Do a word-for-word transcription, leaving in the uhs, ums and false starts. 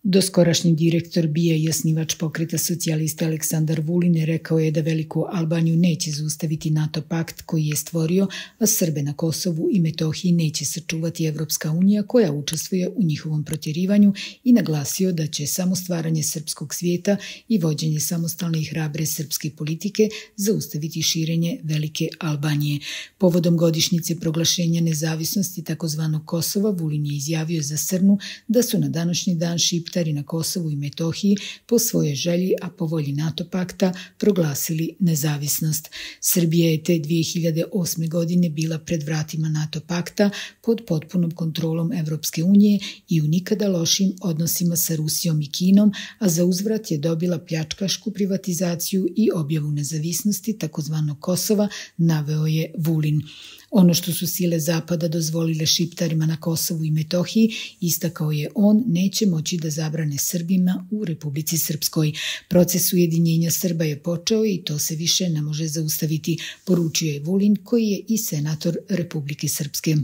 Doskorašnji direktor B I A i osnivač pokreta socijalista Aleksandar Vulin rekao je da Veliku Albaniju neće zaustaviti NATO pakt koji je stvorio, a Srbe na Kosovu i Metohiji neće sačuvati Evropska unija koja učestvuje u njihovom protjerivanju i naglasio da će samo stvaranje srpskog svijeta i vođenje samostalne i hrabre srpske politike zaustaviti širenje Velike Albanije. Povodom godišnjice proglašenja nezavisnosti takozvanog Kosova, Vulin je izjavio za Srnu da su na današnji dan Šiptari na Kosovu i Metohiji po svojoj želji, a po volji NATO pakta, proglasili nezavisnost. Srbija je te dvije hiljade osme. godine bila pred vratima NATO pakta pod potpunom kontrolom Evropske unije i u nikada lošim odnosima sa Rusijom i Kinom, a za uzvrat je dobila pljačkašku privatizaciju i objavu nezavisnosti takozvanog Kosova, naveo je Vulin. Ono što su sile Zapada dozvolile Šiptarima na Kosovu i Metohiji, istakao je on, neće moći da zabrane Srbima u Republici Srpskoj. Proces ujedinjenja Srba je počeo i to se više ne može zaustaviti, poručio je Vulin, koji je i senator Republike Srpske.